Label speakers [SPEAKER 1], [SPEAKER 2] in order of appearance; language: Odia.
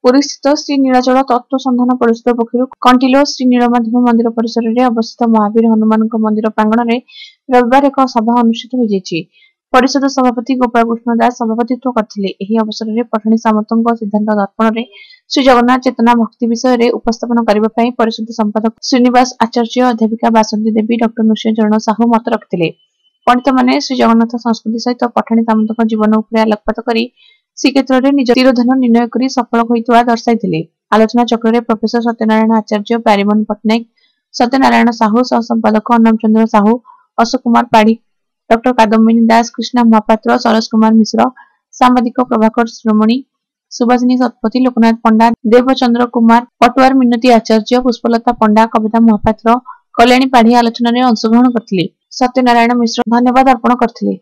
[SPEAKER 1] ପୁରୀସ୍ଥିତ ଶ୍ରୀ ନୀଳାଚଳ ତତ୍ତ୍ୱ ସନ୍ଧାନ ପରିଷଦ ପକ୍ଷରୁ କଣ୍ଟିଲୋ ଶ୍ରୀ ନୀଳମାଧବ ମନ୍ଦିର ପରିସରରେ ଅବସ୍ଥିତ ମହାବୀର ହନୁମାନଙ୍କ ମନ୍ଦିର ପ୍ରାଙ୍ଗଣରେ ରବିବାର ଏକ ସଭା ଅନୁଷ୍ଠିତ ହୋଇଯାଇଛି। ପରିଷଦ ସଭାପତି ଗୋପାଳକୃଷ୍ଣ ଦାସ ସଭାପତିତ୍ୱ କରିଥିଲେ। ଏହି ଅବସରରେ ପଠାଣି ସାମନ୍ତଙ୍କ ସିଦ୍ଧାନ୍ତ ଦର୍ପଣରେ ଶ୍ରୀ ଜଗନ୍ନାଥ ଚେତନା ଭକ୍ତି ବିଷୟରେ ଉପସ୍ଥାପନ କରିବା ପାଇଁ ପରିଷଦ ସମ୍ପାଦକ ଶ୍ରୀନିବାସ ଆଚାର୍ଯ୍ୟ, ଅଧ୍ୟାପିକା ବାସନ୍ତୀ ଦେବୀ, ଡକ୍ଟର ନୃସିଂହ ଚରଣ ସାହୁ ମତ ରଖିଥିଲେ। ପଣ୍ଡିତମାନେ ଶ୍ରୀ ଜଗନ୍ନାଥ ସଂସ୍କୃତି ସହିତ ପଠାଣି ସାମନ୍ତଙ୍କ ଜୀବନ ଉପରେ ଆଲୋକପାତ କରି ଶ୍ରୀକ୍ଷେତ୍ରରେ ନିଜ ତିରୋଧାନ ନିର୍ଣ୍ଣୟ କରି ସଫଳ ହୋଇଥିବା ଦର୍ଶାଇଥିଲେ। ଆଲୋଚନା ଚକ୍ରରେ ପ୍ରଫେସର ସତ୍ୟନାରାୟଣ ଆଚାର୍ଯ୍ୟ, ପ୍ୟାରୀମୋହନ ପଟ୍ଟନାୟକ, ସତ୍ୟନାରାୟଣ ସାହୁ, ସହ ସମ୍ପାଦକ ଅନମ ଚନ୍ଦ୍ର ସାହୁ, ଅଶୋକ କୁମାର ପାଢୀ, ଡକ୍ଟର କାଦମ୍ବିନୀ ଦାସ, କୃଷ୍ଣା ମହାପାତ୍ର, ସରୋଜ କୁମାର ମିଶ୍ର, ସାମ୍ବାଦିକ ପ୍ରଭାକର ଶିରୋମଣି, ସୁବାସିନୀ ଶତପଥୀ, ଲୋକନାଥ ପଣ୍ଡା, ଦେବଚନ୍ଦ୍ର କୁମାର ପଟୁଆର, ମିନତୀ ଆଚାର୍ଯ୍ୟ, ପୁଷ୍ପଲତା ପଣ୍ଡା, କବିତା ମହାପାତ୍ର, କଲ୍ୟାଣୀ ପାଢୀ ଆଲୋଚନାରେ ଅଂଶଗ୍ରହଣ କରିଥିଲେ। ସତ୍ୟନାରାୟଣ ମିଶ୍ର ଧନ୍ୟବାଦ ଅର୍ପଣ କରିଥିଲେ।